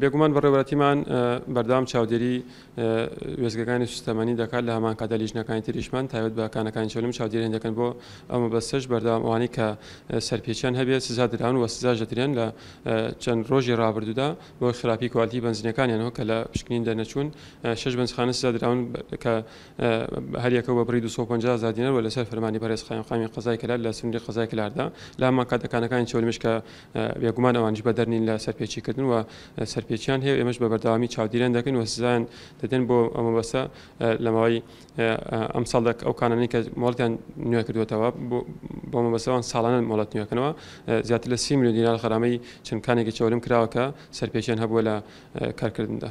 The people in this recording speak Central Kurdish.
بێگومان بەڕێوەبەرایەتیمان بەردەوام چاودێری وێستگەکانی سوستەمەنی دەکات، لە هەمان کاتدا لیژنەکانی تریشمان تایبەت بە کانەکانی چەولم چاودێریان دەکەن. بۆ ئەو مەبەستەش بەردەوام ئەوانەی کە سەرپێچیان هەبێت سزا دراون و سزاش دەدرێن. لە چەند ڕۆژی ڕابردوودا بۆ خراپی کوالتی بەنزینەکانیانەوە کە لە پشکنین دەرنەچوون، شەش بەنزخانە سزا دراون کە هەریەکە بە بڕی 250 هەزار دینار و لەسەر فەرمانی بەڕێز قایمقامی قەزای کەلار لە سنووری قەزای کەلاردا. لە هەمان کاتدا کانەکانی چەولمش کە بێگومان ئەوانیش بەدەر نین لە سەرپێچیکردن و سەرپێچیان هەیە و ئێمەش بە بەردەوامی چاودێریان دەکەین و سزایان دەدەین. بۆ ئەو مەبەستە لە ماوەی ئەمساڵدا ئەو کانانەی کە مۆڵەتیان نوێ کردووەتەوە، بۆ مەبەستەوان ساڵانە مۆڵەت نوێکەنەوە، زیاتر لە 30 ملیۆن دینار غەرامەی چەند کانێکی چەولم کراوە کە سەرپێچیان هەبووە لە کارکردندا.